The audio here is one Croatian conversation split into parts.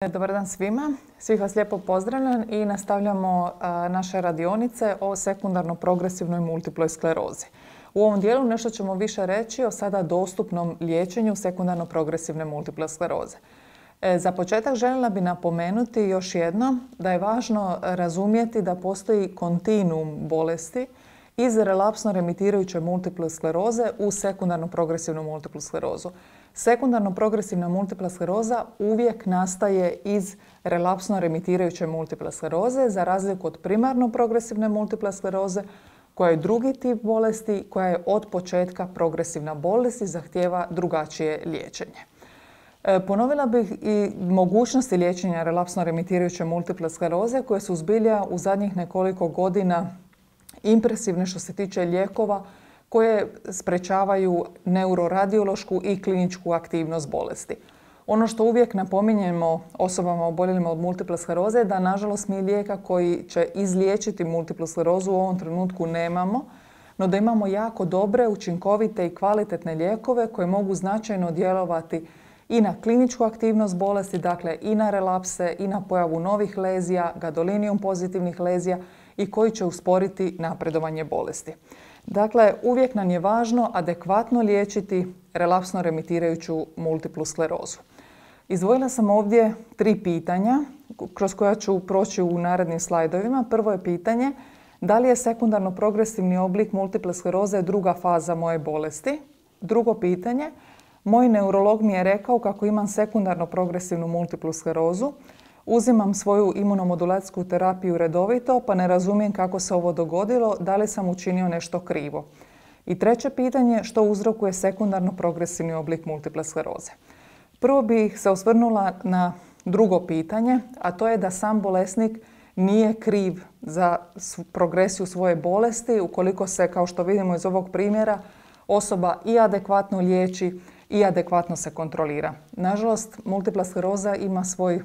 Dobar dan svima. Svih vas lijepo pozdravljam i nastavljamo naše radionice o sekundarno progresivnoj multiploj sklerozi. U ovom dijelu nešto ćemo više reći o sada dostupnom liječenju sekundarno progresivne multiple skleroze. Za početak željela bi napomenuti još jednom da je važno razumjeti da postoji kontinuum bolesti iz relapsno remitirajuće multiple skleroze u sekundarno progresivnu multiplu sklerozu. Sekundarno progresivna multipla skleroza uvijek nastaje iz relapsno remitirajuće multiple skleroze za razliku od primarno progresivne multiple skleroze koja je drugi tip bolesti koja je od početka progresivna bolest i zahtijeva drugačije liječenje. Ponovila bih i mogućnosti liječenja relapsno remitirajuće multiple skleroze koje su zbilja u zadnjih nekoliko godina impresivne što se tiče lijekova koje sprečavaju neuroradiološku i kliničku aktivnost bolesti. Ono što uvijek napominjemo osobama oboljelima od multiple skleroze je da nažalost mi lijeka koji će izliječiti multiplu sklerozu u ovom trenutku nemamo, no da imamo jako dobre, učinkovite i kvalitetne lijekove koje mogu značajno djelovati i na kliničku aktivnost bolesti, dakle i na relapse i na pojavu novih lezija, gadolinijum pozitivnih lezija i koji će usporiti napredovanje bolesti. Dakle, uvijek nam je važno adekvatno liječiti relapsno remitirajuću multiplu sklerozu. Izdvojila sam ovdje 3 pitanja kroz koja ću proći u narednim slajdovima. Prvo je pitanje da li je sekundarno progresivni oblik multiple skleroze druga faza moje bolesti. Drugo pitanje, moj neurolog mi je rekao kako imam sekundarno progresivnu multiplu sklerozu. Uzimam svoju imunomodulacijsku terapiju redovito, pa ne razumijem kako se ovo dogodilo, da li sam učinio nešto krivo. I treće pitanje, što uzrokuje sekundarno progresivni oblik multiple skleroze. Prvo bih se osvrnula na drugo pitanje, a to je da sam bolesnik nije kriv za progresiju svoje bolesti ukoliko se, kao što vidimo iz ovog primjera, osoba i adekvatno liječi i adekvatno se kontrolira. Nažalost, multipla skleroza ima svoj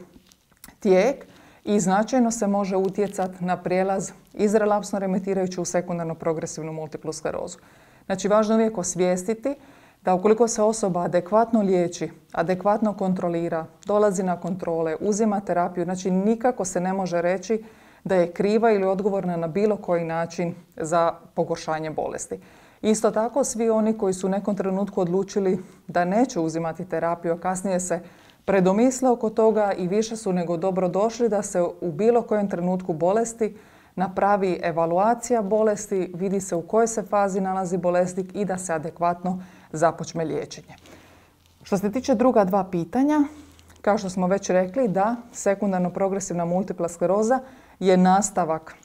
tijek i značajno se može utjecati na prijelaz iz relapsno remitirajuću u sekundarno progresivnu multiplu sklerozu. Znači, važno je uvijek osvijestiti da ukoliko se osoba adekvatno liječi, adekvatno kontrolira, dolazi na kontrole, uzima terapiju, znači nikako se ne može reći da je kriva ili odgovorna na bilo koji način za pogoršanje bolesti. Isto tako, svi oni koji su u nekom trenutku odlučili da neće uzimati terapiju, a kasnije se predomisle oko toga i više su nego dobro došli da se u bilo kojem trenutku bolesti napravi evaluacija bolesti, vidi se u kojoj se fazi nalazi bolesnik i da se adekvatno započne liječenje. Što se tiče druga 2 pitanja, kao što smo već rekli, da sekundarno progresivna multipla skleroza je nastavak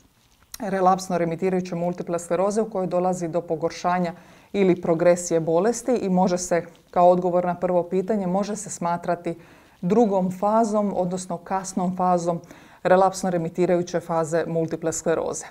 relapsno remitirajuće multiple skleroze u kojoj dolazi do pogoršanja ili progresije bolesti i može se, kao odgovor na prvo pitanje, može se smatrati drugom fazom, odnosno kasnom fazom relapsno remitirajuće faze multiple skleroze.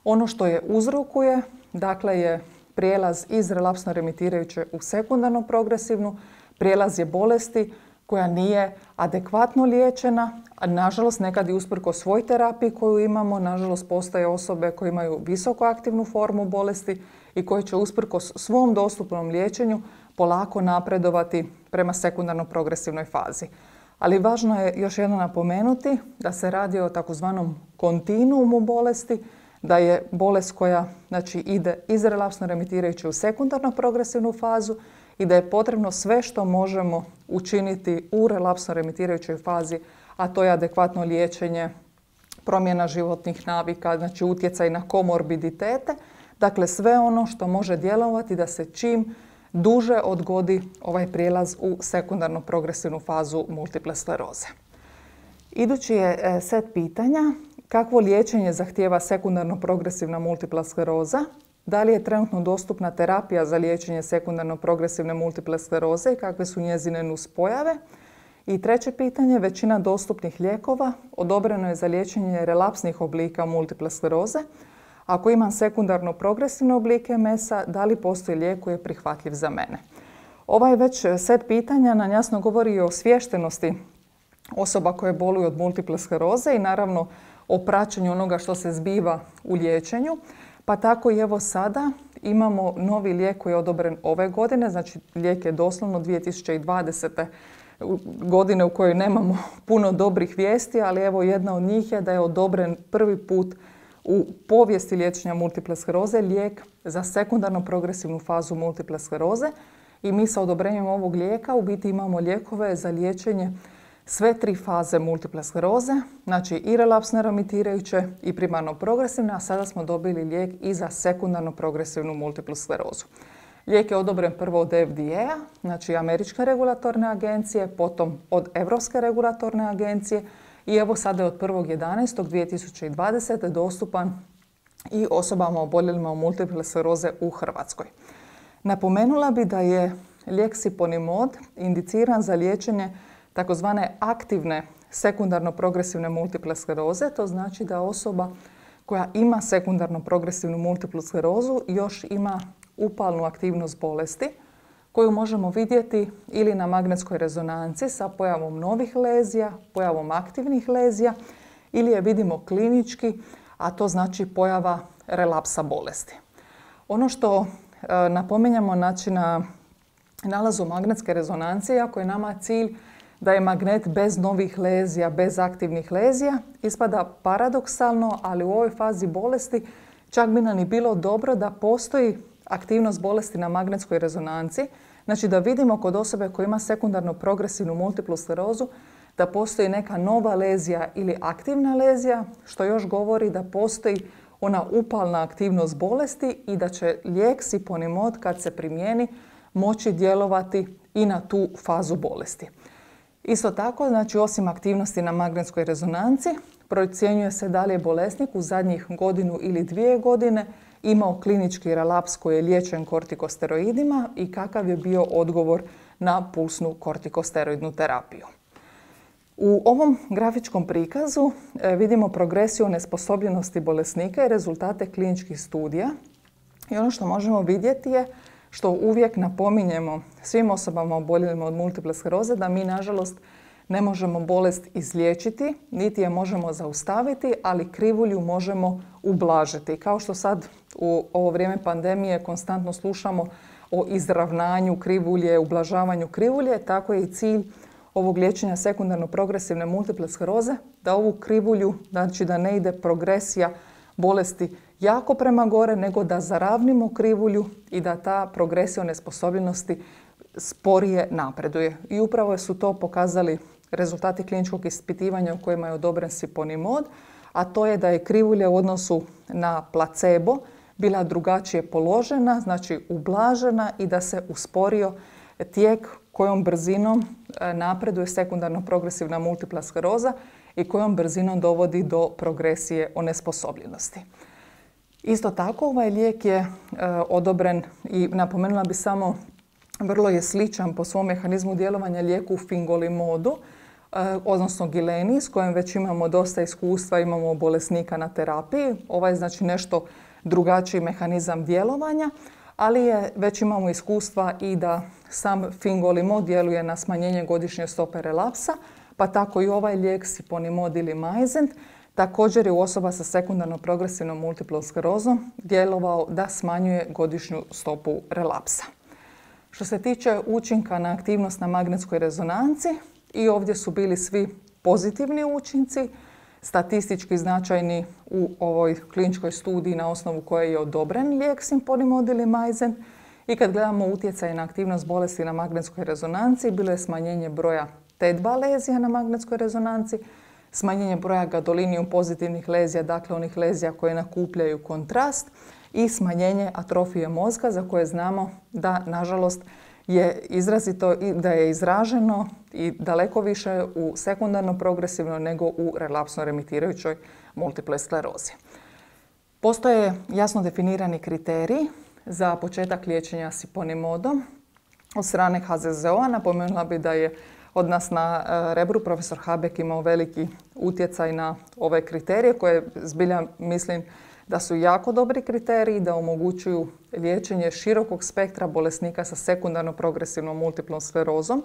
Ono što je uzrokuje, dakle, je prijelaz iz relapsno remitirajuće u sekundarno progresivnu, prijelaz je bolesti koja nije adekvatno liječena, a nažalost nekad i usprkos svoj terapiji koju imamo, nažalost postoje osobe koje imaju visoko aktivnu formu bolesti i koje će usprkos svom dostupnom liječenju polako napredovati prema sekundarno progresivnoj fazi. Ali važno je još jednom napomenuti da se radi o takozvanom kontinuumu bolesti, da je bolest koja ide iz relapsno remitirajuće u sekundarno progresivnu fazu i da je potrebno sve što možemo učiniti u relapsno remitirajućoj fazi, a to je adekvatno liječenje, promjena životnih navika, znači utjecaj na komorbiditete, dakle sve ono što može djelovati da se čim duže odgodi ovaj prijelaz u sekundarno progresivnu fazu multiple skleroze. Idući je set pitanja, kakvo liječenje zahtijeva sekundarno progresivna multipla skleroza, da li je trenutno dostupna terapija za liječenje sekundarno progresivne multiple skleroze i kakve su njezine nuspojave. I treće pitanje, većina dostupnih lijekova odobreno je za liječenje relapsnih oblika multiple skleroze. Ako imam sekundarno progresivne oblike MS-a, da li postoji lijek koji je prihvatljiv za mene? Ovaj već set pitanja nam jasno govori o osviještenosti osoba koje boluju od multiple skleroze i naravno o praćenju onoga što se zbiva u liječenju. Pa tako i evo sada imamo novi lijek koji je odobren ove godine, znači lijek je doslovno 2020. godine u kojoj nemamo puno dobrih vijesti, ali evo jedna od njih je da je odobren prvi put u povijesti liječenja multiple skleroze lijek za sekundarno progresivnu fazu multiple skleroze i mi sa odobrenjem ovog lijeka u biti imamo lijekove za liječenje sve 3 faze multiple skleroze, znači i relapsne remitirajuće i primarno progresivne, a sada smo dobili lijek i za sekundarno progresivnu multiplu sklerozu. Lijek je odobren prvo od FDA, znači Američke regulatorne agencije, potom od Europske regulatorne agencije i evo sada je od 1.11.2020. dostupan i osobama oboljelima od multiple skleroze u Hrvatskoj. Napomenula bi da je lijek Siponimod indiciran za liječenje takozvane aktivne sekundarno progresivne multiple skleroze. To znači da osoba koja ima sekundarno progresivnu multiplu sklerozu još ima upalnu aktivnost bolesti koju možemo vidjeti ili na magnetskoj rezonanci sa pojavom novih lezija, pojavom aktivnih lezija ili je vidimo klinički, a to znači pojava relapsa bolesti. Ono što napominjamo znači na nalazu magnetske rezonancije, ako je nama cilj da je magnet bez novih lezija, bez aktivnih lezija, ispada paradoksalno, ali u ovoj fazi bolesti čak bi nam i bilo dobro da postoji aktivnost bolesti na magnetskoj rezonanci, znači da vidimo kod osobe koja ima sekundarno progresivnu multiplu sklerozu da postoji neka nova lezija ili aktivna lezija, što još govori da postoji ona upalna aktivnost bolesti i da će lijek Siponimod kad se primijeni moći djelovati i na tu fazu bolesti. Isto tako, znači osim aktivnosti na magnetskoj rezonanci, procjenjuje se da li je bolesnik u zadnjih 1 ili 2 godine imao klinički relaps koji je liječen kortikosteroidima i kakav je bio odgovor na pulsnu kortikosteroidnu terapiju. U ovom grafičkom prikazu vidimo progresiju nesposobljenosti bolesnika i rezultate kliničkih studija. I ono što možemo vidjeti je, što uvijek napominjemo svim osobama oboljelima od multiple skleroze, da mi nažalost ne možemo bolest izliječiti, niti je možemo zaustaviti, ali krivulju možemo ublažiti. Kao što sad u ovo vrijeme pandemije konstantno slušamo o izravnanju krivulje, ublažavanju krivulje, tako je i cilj ovog liječenja sekundarno progresivne multiple skleroze, da ovu krivulju, znači da ne ide progresija bolesti jako prema gore, nego da zaravnimo krivulju i da ta progresija nesposobljenosti sporije napreduje. I upravo su to pokazali rezultati kliničkog ispitivanja u kojima je odobren Siponimod, a to je da je krivulja u odnosu na placebo bila drugačije položena, znači ublažena i da se usporio tijek kojom brzinom napreduje sekundarno progresivna multipla skleroza i kojom brzinom dovodi do progresije onesposobljenosti. Isto tako, ovaj lijek je odobren i napomenula bi samo, vrlo je sličan po svom mehanizmu djelovanja lijeku Fingolimodu, odnosno Gileni, s kojim već imamo dosta iskustva, imamo bolesnika na terapiji. Ovaj je znači nešto drugačiji mehanizam djelovanja, ali već imamo iskustva i da sam Fingolimod djeluje na smanjenje godišnje stope relapsa, pa tako i ovaj lijek Siponimod ili Mayzent također je u osoba sa sekundarno progresivnom multiplom sklerozom djelovao da smanjuje godišnju stopu relapsa. Što se tiče učinka na aktivnost na magnetskoj rezonanci, i ovdje su bili svi pozitivni učinci, statistički značajni u ovoj kliničkoj studiji na osnovu koje je odobren lijek Siponimod ili Mayzent. I kad gledamo utjecaj na aktivnost bolesti na magnetskoj rezonanci, bilo je smanjenje broja T2 lezija na magnetskoj rezonanci, smanjenje broja gadolinijum pozitivnih lezija, dakle onih lezija koje nakupljaju kontrast, i smanjenje atrofije mozga za koje znamo da nažalost je izrazito i da je izraženo i daleko više u sekundarno progresivnoj nego u relapsno remitirajućoj multiple sklerozi. Postoje jasno definirani kriteriji za početak liječenja Siponimodom od strane HZZO-a. Napomenula bi da je od nas na Rebru profesor Habek imao veliki utjecaj na ove kriterije koje zbilja mislim da su jako dobri kriteriji, da omogućuju liječenje širokog spektra bolesnika sa sekundarno progresivnom multiplom sklerozom.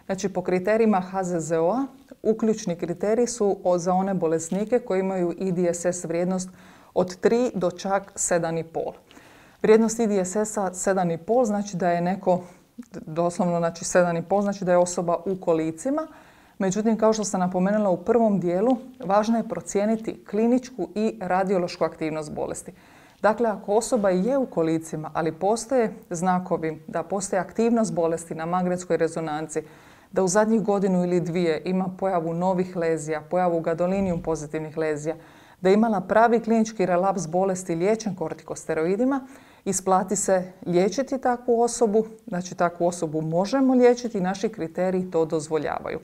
Znači, po kriterijima HZZO-a uključni kriteriji su za one bolesnike koji imaju IDSS vrijednost od 3 do čak 7,5. Vrijednost IDSS-a 7,5 znači da je neko doslovno znači 7,5, znači da je osoba u kolicima. Međutim, kao što sam napomenula u prvom dijelu, važno je procijeniti kliničku i radiološku aktivnost bolesti. Dakle, ako osoba je u kolicima, ali postoje znakovi da postoji aktivnost bolesti na magnetskoj rezonanci, da u zadnjih godinu ili dvije ima pojavu novih lezija, pojavu gadolinijum pozitivnih lezija, da je imala pravi klinički relaps bolesti liječen kortikosteroidima, isplati se liječiti takvu osobu, znači takvu osobu možemo liječiti i naši kriteriji to dozvoljavaju.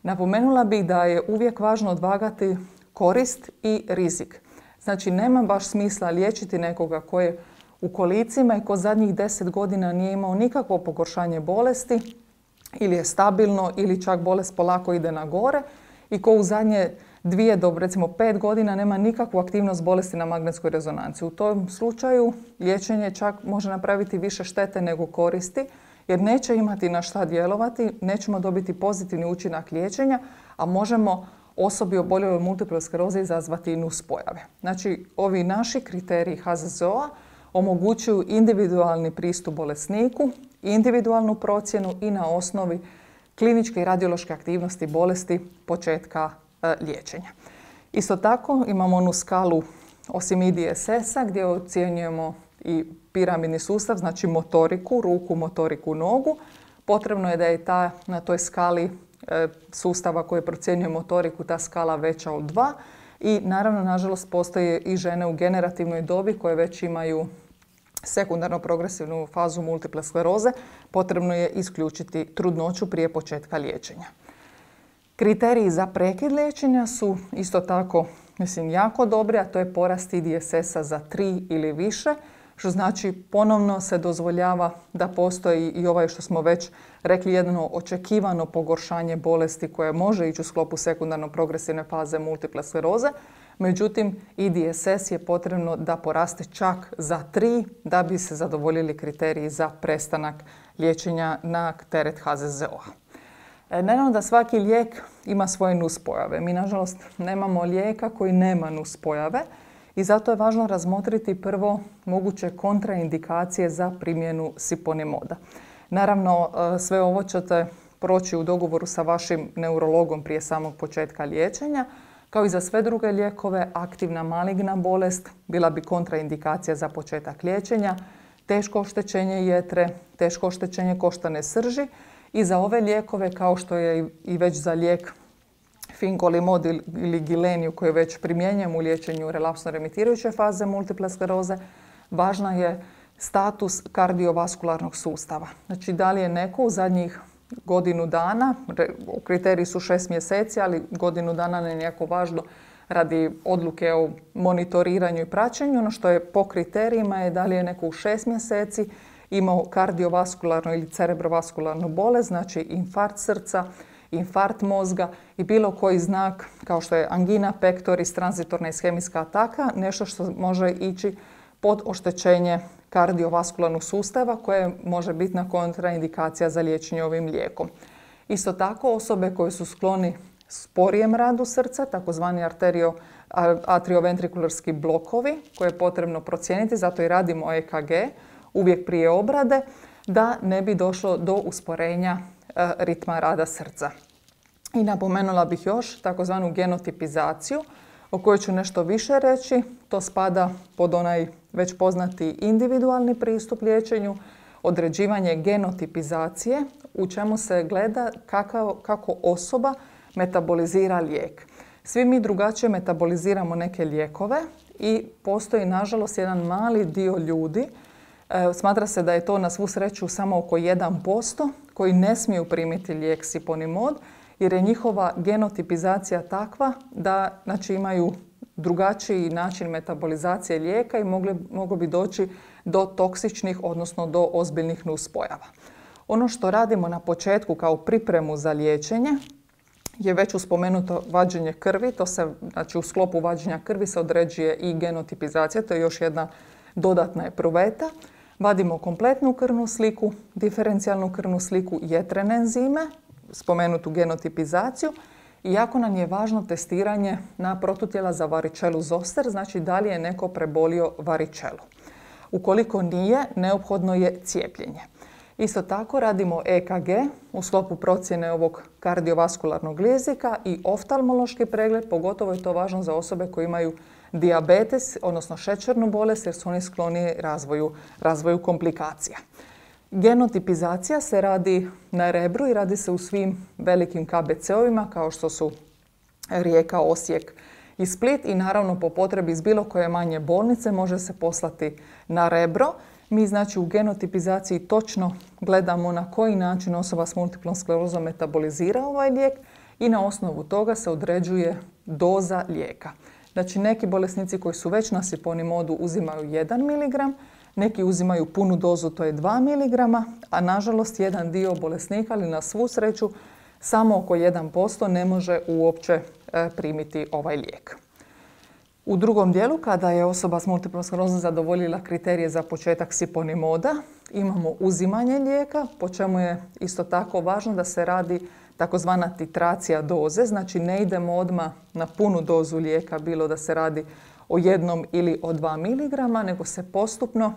Napomenula bih da je uvijek važno odvagati korist i rizik. Znači nema baš smisla liječiti nekoga ko je u kolicima i ko zadnjih 10 godina nije imao nikakvo pogoršanje bolesti ili je stabilno ili čak bolest polako ide na gore i ko u zadnje 2 do recimo 5 godina nema nikakvu aktivnost bolesti na magnetskoj rezonanci. U tom slučaju liječenje čak može napraviti više štete nego koristi jer neće imati na šta djelovati, nećemo dobiti pozitivni učinak liječenja, a možemo osobi oboljeloj od multiple skleroze izazvati i nuspojave. Znači, ovi naši kriteriji HZZO-a omogućuju individualni pristup bolesniku, individualnu procjenu i na osnovi kliničke i radiološke aktivnosti bolesti početka liječenja. Isto tako imamo onu skalu osim IDSS-a gdje ocjenjujemo i piramidni sustav, znači motoriku, ruku, motoriku, nogu. Potrebno je da je na toj skali sustava koji procjenjuje motoriku ta skala veća od 2 i naravno, nažalost, postoje i žene u generativnoj dobi koje već imaju sekundarno progresivnu fazu multiple skleroze. Potrebno je isključiti trudnoću prije početka liječenja. Kriteriji za prekid liječenja su isto tako, jako dobri, a to je porast IDSS-a za 3 ili više, što znači ponovno se dozvoljava da postoji i ovaj što smo već rekli jedno očekivano pogoršanje bolesti koje može ići u sklopu sekundarno progresivne faze multiple skleroze. Međutim, IDSS je potrebno da poraste čak za 3 da bi se zadovoljili kriteriji za prestanak liječenja na teret HZZO-a. Naravno da svaki lijek ima svoje nuspojave. Mi, nažalost, nemamo lijeka koji nema nuspojave i zato je važno razmotriti prvo moguće kontraindikacije za primjenu siponimoda. Naravno, sve ovo ćete proći u dogovoru sa vašim neurologom prije samog početka liječenja. Kao i za sve druge lijekove, aktivna maligna bolest bila bi kontraindikacija za početak liječenja, teško oštećenje jetre, teško oštećenje koštane srži i za ove lijekove, kao što je i već za lijek fingolimod ili gileniju koji već primjenjujemo u liječenju relapsno remitirajuće faze multiple skleroze, važna je status kardiovaskularnog sustava. Znači, da li je neko u zadnjih godinu dana, kriteriji su 6 mjeseci, ali godinu dana ne je jako važno radi odluke o monitoriranju i praćenju. Ono što je po kriterijima je da li je neko u 6 mjeseci imao kardiovaskularnu ili cerebrovaskularnu bolest, znači infarkt srca, infarkt mozga i bilo koji znak kao što je angina pectoris, tranzitorna ishemijska ataka, nešto što može ići pod oštećenje kardiovaskularnog sustava koje može biti na kontraindikacija za liječenje ovim lijekom. Isto tako osobe koje su skloni sporijem radu srca, takozvani atrioventrikularski blokovi koje je potrebno procijeniti, zato i radimo EKG uvijek prije obrade, da ne bi došlo do usporenja ritma rada srca. I napomenula bih još takozvanu genotipizaciju o kojoj ću nešto više reći. To spada pod onaj već poznati individualni pristup liječenju, određivanje genotipizacije u čemu se gleda kako osoba metabolizira lijek. Svi mi drugačije metaboliziramo neke lijekove i postoji nažalost jedan mali dio ljudi, smatra se da je to na svu sreću samo oko 1%, koji ne smiju primiti lijek siponimod jer je njihova genotipizacija takva da imaju drugačiji način metabolizacije lijeka i moglo bi doći do toksičnih, odnosno do ozbiljnih nuspojava. Ono što radimo na početku kao pripremu za liječenje je već spomenuto vađenje krvi. To se, u sklopu vađenja krvi se određuje i genotipizacija, to je još jedna dodatna epruveta. Vadimo kompletnu krvnu sliku, diferencijalnu krvnu sliku, jetrene enzime, spomenutu genotipizaciju i jako nam je važno testiranje na protutijela za varicelu zoster, znači da li je neko prebolio varicelu. Ukoliko nije, neophodno je cijepljenje. Isto tako radimo EKG u sklopu procjene ovog kardiovaskularnog rizika i oftalmološki pregled, pogotovo je to važno za osobe koje imaju dijabetes, odnosno šećernu bolest, jer su oni skloni razvoju komplikacija. Genotipizacija se radi na Rebru i radi se u svim velikim KBC-ovima kao što su Rijeka, Osijek i Split i naravno po potrebi iz bilo koje manje bolnice može se poslati na Rebro. Mi znači u genotipizaciji točno gledamo na koji način osoba s multiplom sklerozom metabolizira ovaj lijek i na osnovu toga se određuje doza lijeka. Znači neki bolesnici koji su već na siponimodu uzimaju 1 mg, neki uzimaju punu dozu, to je 2 mg, a nažalost jedan dio bolesnika, ali na svu sreću samo oko 1% ne može uopće primiti ovaj lijek. U drugom dijelu, kada je osoba s multiplom sklerozom zadovoljila kriterije za početak siponimoda, imamo uzimanje lijeka, po čemu je isto tako važno da se radi takozvana titracija doze, znači ne idemo odmah na punu dozu lijeka, bilo da se radi o 1 ili o 2 mg, nego se postupno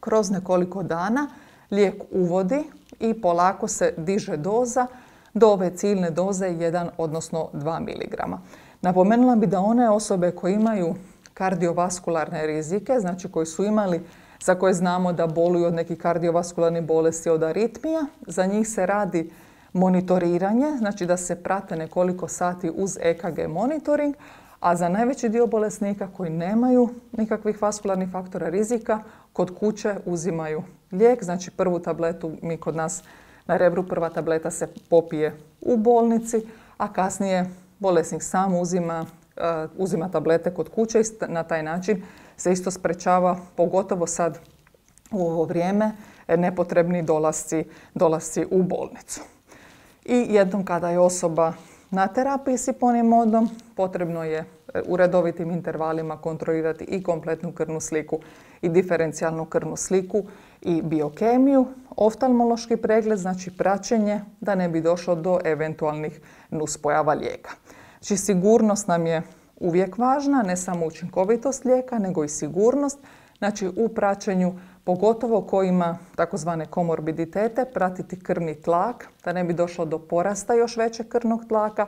kroz nekoliko dana lijek uvodi i polako se diže doza do ove ciljne doze 1 odnosno 2 mg. Napomenula bi da one osobe koje imaju kardiovaskularne rizike, znači koji su imali, za koje znamo da boluju od nekih kardiovaskularnih bolesti, od aritmija, za njih se radi monitoriranje, znači da se prate nekoliko sati uz EKG monitoring, a za najveći dio bolesnika koji nemaju nikakvih vaskularnih faktora rizika, kod kuće uzimaju lijek, znači prvu tabletu mi kod nas na Rebru, prva tableta se popije u bolnici, a kasnije bolesnik sam uzima tablete kod kuće i na taj način se isto sprečava, pogotovo sad u ovo vrijeme, nepotrebni dolasci u bolnicu. I jednom kada je osoba na terapiji siponimodom, potrebno je u redovitim intervalima kontrolirati i kompletnu krvnu sliku i diferencijalnu krvnu sliku i biokemiju, oftalmološki pregled, znači praćenje da ne bi došlo do eventualnih nuspojava lijeka. Znači sigurnost nam je uvijek važna, ne samo učinkovitost lijeka, nego i sigurnost. Znači u praćenju, pogotovo ko ima takozvane komorbiditete, pratiti krvni tlak, da ne bi došlo do porasta još većeg krvnog tlaka,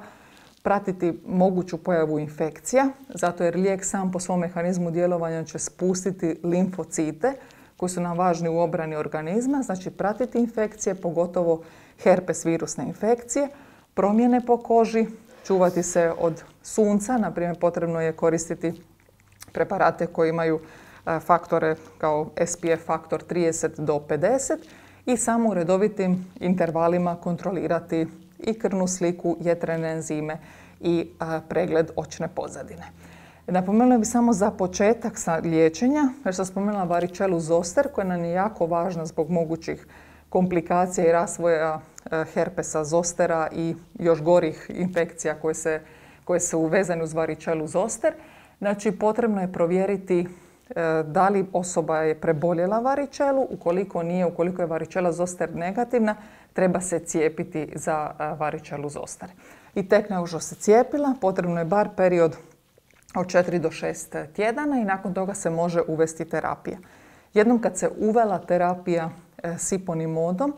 pratiti moguću pojavu infekcija, zato jer lijek sam po svom mehanizmu djelovanja će spustiti limfocite koji su nam važni u obrani organizma, znači pratiti infekcije, pogotovo herpes virusne infekcije, promjene po koži, čuvati se od sunca, na primjer potrebno je koristiti preparate koji imaju faktore kao SPF faktor 30 do 50 i samo u redovitim intervalima kontrolirati i krvnu sliku, jetrene enzime i pregled očne pozadine. Napomenula bih samo za početak liječenja, jer sam spomenula varicelu zoster koja nam je jako važna zbog mogućih komplikacija i razvoja herpesa zostera i još gorih infekcija koje su uvezane uz varicelu zoster. Znači potrebno je provjeriti da li osoba je preboljela varičelu, ukoliko nije, ukoliko je varičela zoster negativna, treba se cijepiti za varičelu zoster. I tek nakon što se cijepila, potrebno je bar period od 4 do 6 tjedana i nakon toga se može uvesti terapija. Jednom kad se uvela terapija siponimodom,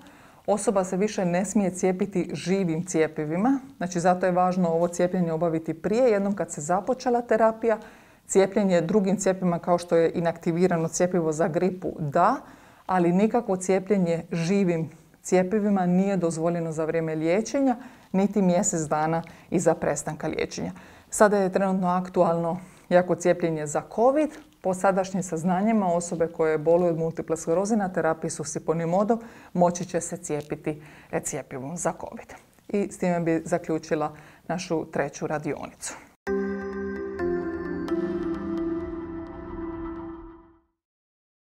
osoba se više ne smije cijepiti živim cjepivima, znači zato je važno ovo cijepljenje obaviti prije. Jednom kad se započela terapija, cijepljenje drugim cjepivima kao što je inaktivirano cjepivo za gripu da, ali nikakvo cijepljenje živim cjepivima nije dozvoljeno za vrijeme liječenja, niti mjesec dana iza prestanka liječenja. Sada je trenutno aktualno jako cijepljenje za COVID. Po sadašnjim saznanjima osobe koje boluju od multiple skleroze na terapiji su siponimodom moći će se cijepiti cjepivom za COVID. I s time bi zaključila našu treću radionicu.